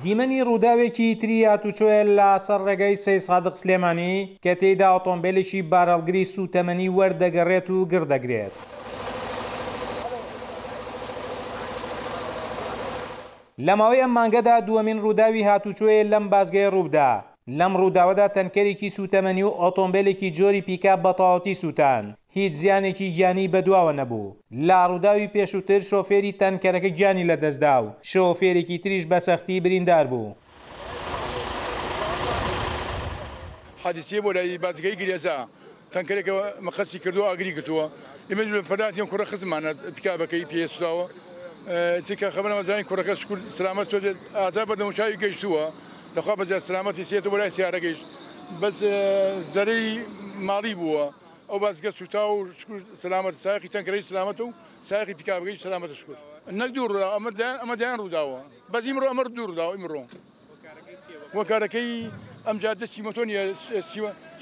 دیمەنی ڕووداوێکی تری هاتوچۆیە لە سەر ڕێگای سەیدسادق سلێمانی کە تێیدا ئۆتۆمبێلێکی بارهەڵگری سووتەمەنی وەردەگەڕێت و گڕ دەگرێت. لە ماوەی ئەم مانگەدا دووەمین ڕووداوی هاتوچۆیە لەم بازگەیە ڕووبدا، لەم ڕووداوەدا تەنکەرێکی سووتەمەنی و ئۆتۆمبێلێکی جۆری پیکاب بە تەواوەتی سووتان، هیچ زیانێکی گیانی بەدواوە نەبوو. لە ڕووداوی پێشووتر شۆفێری تەنکەرەکە گیانی لەدەستدا و شۆفێرێکی تریش بە سەختی بریندار بوو. حادیسەیە بۆ لای بازگەی گرێزە تەنکەرێکە مەقەسی کردووە ئاگری گرتووە ئێمەش لە پەناتی ئەم کوڕە خزممانە پیکابەکەی پێ سوتاوە چونکە خەبەرمان زانین کوڕەکە شکور سلامەت تۆزێ ئازار بە دەموچاوی گەیشتووە لەخوا بەزیاد سلامەتی سێتە بۆ لای سیارەکەیش بەس زەرەی ماڵی بووە ئەو بازگە سوتا و شکور سلامەت سایەقی تەنکەرەی سلامەتە و سایەقی پیکابەکەیش سلامەتە شکور نەک دوو ڕووداو ئەمە دەیان ئەمە دەیان ڕووداوە بەس ئیمڕۆ ئەمە دوو ڕووداوە ئیمڕۆ هۆکارەکەی ئەم جادە چیمەتۆ نیە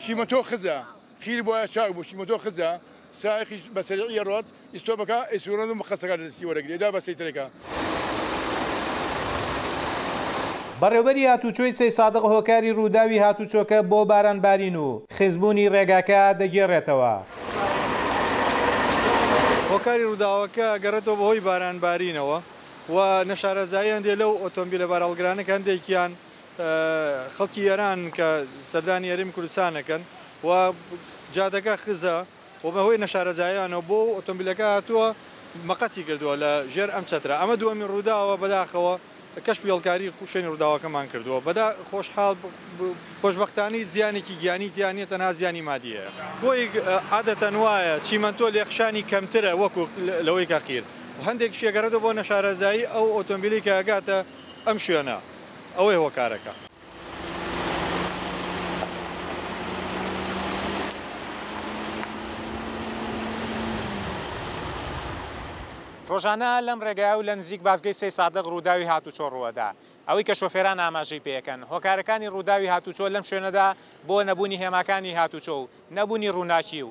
چیمەتۆ خزە قیر بۆیە چاک بوو چیمەتۆ خزە سایەقیش بە سەریعی ئەڕوات ئیستۆپەکە ئەیسوڕێنێت و مقەسەکە لە دەستی وەرەگرێ دا بە سەیتەرەکە. بەڕێوبەری هاتوچۆی سەیسادق هۆکاری رووداوی هاتوچۆکە بۆ باران بارین و خزبوونی رێگاکە دەگێڕێتەوە. هۆکاری رووداوەکە گەڕێتەوە بەهۆی باران بارینەوە و نەشارەزایی هەندێ لەو ئۆتۆمبیلە بارهەڵگرانە کە هەندێکیان خەڵکی ئێرانن کە سەردانی هەرێمی کوردستان ئەکەن و جادەکە خزە و بەهۆی نەشارەزاییانەوە بۆ ئۆتۆمبیلەکە هاتووە مەقەسی کردووە لە ژێر ئەم چەترە ئەمە دووەمین ڕووداوە بەداخەوە کەشفی هێڵکاری شوێنی ڕووداوەکەمان کردووە بەدا خۆشحاڵ خۆشبەختانی زیانێکی گیانی تیا نییە تەنها زیانی مادی هەیە. خۆی عادەتەن وایە چیمەنتۆ لێخشانی کەمترە وەکو لەوەی کە قیر و هەندێکیش ئەگەڕێتەوە بۆ نەشارەزایی ئەو ئۆتۆمبیلەی کە ئەگاتە ئەم شوێنە ئەوەیە هۆکارەکە. ڕۆژانە لەم ڕێگایە و لە نزیک بازگەی سەیسادق ڕووداوی هاتوچۆ ڕووەدا. ئەوەی کە شۆفێران ئاماژەی پێیەکەن، هۆکارەکانی ڕووداوی هاتوچۆ لەم شوێنەدا بۆ نەبوونی هێماکانی هاتوچۆ و نەبوونی ڕووناکی و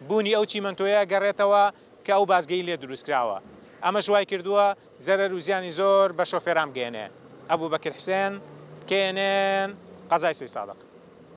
بوونی ئەو چیمەنتۆیە ئەگەڕێتەوە کە ئەو بازگەی لێ دروستکراوە. ئەمەش وایکردووە زەرەر و زیانی زۆر بە شۆفێران بگەیەنێ. ئەبوبەکر حسێن، KNN، قەزای سەیسادق.